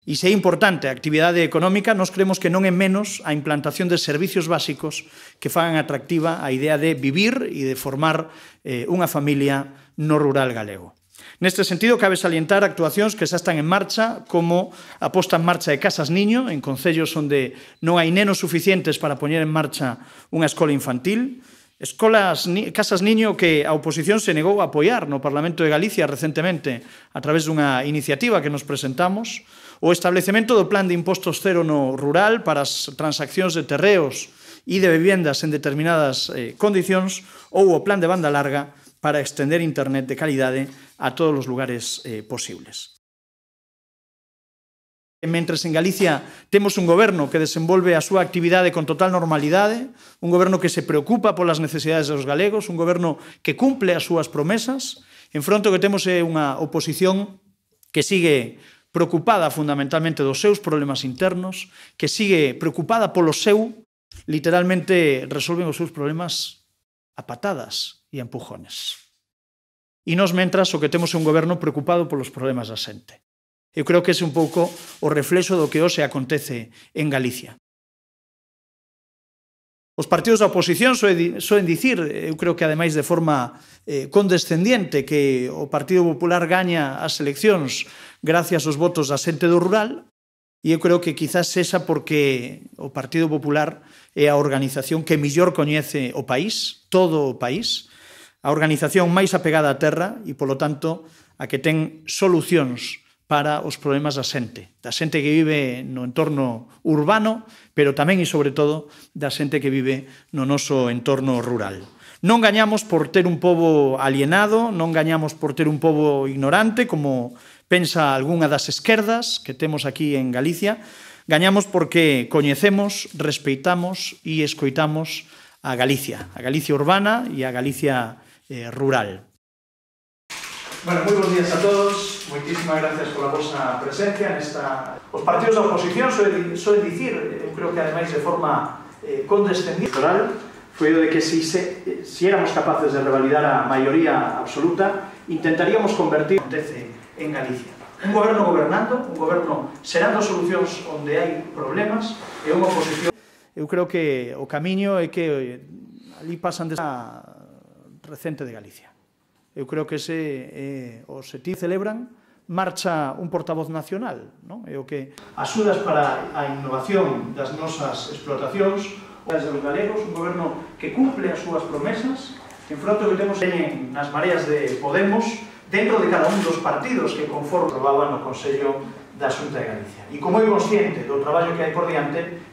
E se é importante a actividade económica, nós creemos que non é menos a implantación de servicios básicos que fagan atractiva a idea de vivir e de formar unha familia no rural galego. Neste sentido, cabe salientar actuacións que xa están en marcha, como a posta en marcha de Casas Niño, en concellos onde non hai nenos suficientes para poñer en marcha unha escola infantil, Casas Niño que a oposición se negou a apoiar no Parlamento de Galicia recentemente a través dunha iniciativa que nos presentamos, o establecemento do plan de impostos cero no rural para as transaccións de terreos e de vivendas en determinadas condicións, ou o plan de banda larga para extender internet de calidade a todos os lugares posibles. Mentres en Galicia temos un goberno que desenvolve a súa actividade con total normalidade, un goberno que se preocupa polas necesidades dos galegos, un goberno que cumple as súas promesas, en fronte o que temos é unha oposición que sigue preocupada fundamentalmente dos seus problemas internos, que sigue preocupada polo seu, literalmente resolven os seus problemas a patadas e a empujones. E nós, mentras, o que temos é un goberno preocupado polos problemas da xente. Eu creo que ese é un pouco o reflexo do que hoxe acontece en Galicia. Os partidos da oposición soen dicir, eu creo que ademais de forma condescendiente, que o Partido Popular gaña as eleccións gracias aos votos da xente do rural, e eu creo que quizás sexa porque o Partido Popular é a organización que mellor coñece o país, todo o país, a organización máis apegada á terra e, polo tanto, a que ten solucións para os problemas da xente que vive no entorno urbano, pero tamén e sobre todo da xente que vive no noso entorno rural. Non gañamos por ter un pobo alienado, non gañamos por ter un pobo ignorante, como pensa algunha das esquerdas que temos aquí en Galicia, gañamos porque coñecemos, respeitamos e escoitamos a Galicia urbana e a Galicia rural. Bueno, moi bons días a todos, moitísimas gracias pola vosa presencia nesta... Os partidos da oposición soen dicir, eu creo que ademais de forma condescendiente, foi o de que se éramos capaces de revalidar a maioría absoluta, intentaríamos convertir o que acontece en Galicia. Un goberno gobernando, un goberno xerando solucións onde hai problemas, e unha oposición... Eu creo que o camiño é que ali pasan desa recente de Galicia. Eu creo que os ETI celebran, marcha un portavoz nacional, é o que axudas para a innovación das nosas explotacións, das dos galegos, un goberno que cumple as súas promesas, en fronte que temos nas mareas de Podemos, dentro de cada un dos partidos que conforme aprobaban no Consello da Xunta de Galicia. E como é consciente do traballo que hai por diante...